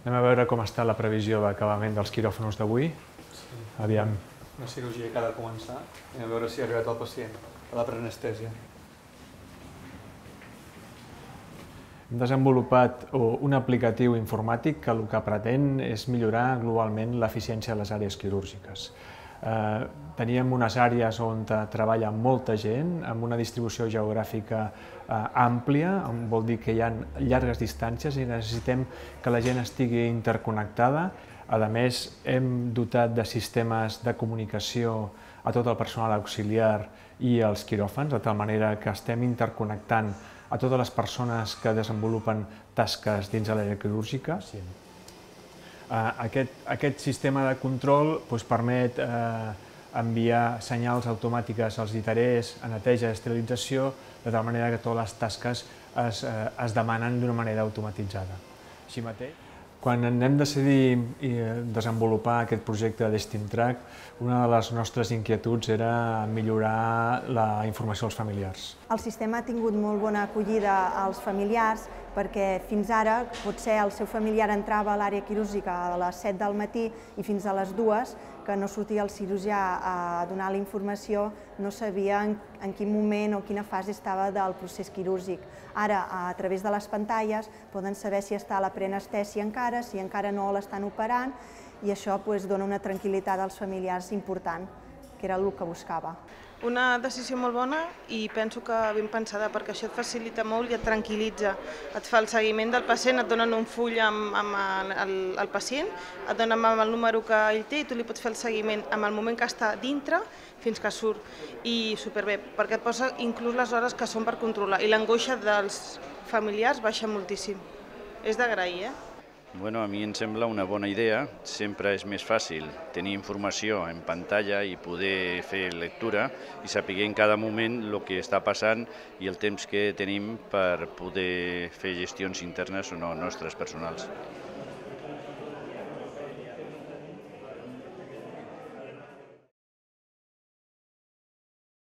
Anem a veure com està la previsió d'acabament dels quiròfans d'avui. Aviam. Una cirurgia que ha de començar. Anem a veure si ha arribat el pacient a la preanestèsia. Hem desenvolupat un aplicatiu informàtic que el que pretén és millorar globalment l'eficiència de les àrees quirúrgiques. Teníem unes àrees on treballa molta gent, amb una distribució geogràfica àmplia, vol dir que hi ha llargues distàncies i necessitem que la gent estigui interconnectada. A més, hem dotat de sistemes de comunicació a tot el personal auxiliar i als quiròfans, de tal manera que estem interconnectant a totes les persones que desenvolupen tasques dins de l'àrea quirúrgica. Aquest sistema de control permet enviar senyals automàtiques als lliterers a neteja i esterilització, de tal manera que totes les tasques es demanen d'una manera automatitzada. Així mateix, quan hem decidit desenvolupar aquest projecte de DestinTrack, una de les nostres inquietuds era millorar la informació als familiars. El sistema ha tingut molt bona acollida als familiars perquè fins ara potser el seu familiar entrava a l'àrea quirúrgica a les 7 del matí i fins a les 2, que no sortia el cirurgià a donar la informació, no sabia en quin moment o quina fase estava del procés quirúrgic. Ara, a través de les pantalles, poden saber si està a la preanestèsia encara, si encara no l'estan operant, i això dona una tranquil·litat als familiars important, que era el que buscava. Una decisió molt bona i penso que ben pensada, perquè això et facilita molt i et tranquil·litza. Et fa el seguiment del pacient, et donen un full amb el pacient, et donen amb el número que ell té i tu li pots fer el seguiment amb el moment que està dintre fins que surt. I superbé, perquè et posa inclús les hores que són per controlar i l'angoixa dels familiars baixa moltíssim. És d'agrair, Bueno, a mi em sembla una bona idea. Sempre és més fàcil tenir informació en pantalla i poder fer lectura i saber en cada moment el que està passant i el temps que tenim per poder fer gestions internes o no nostres personals.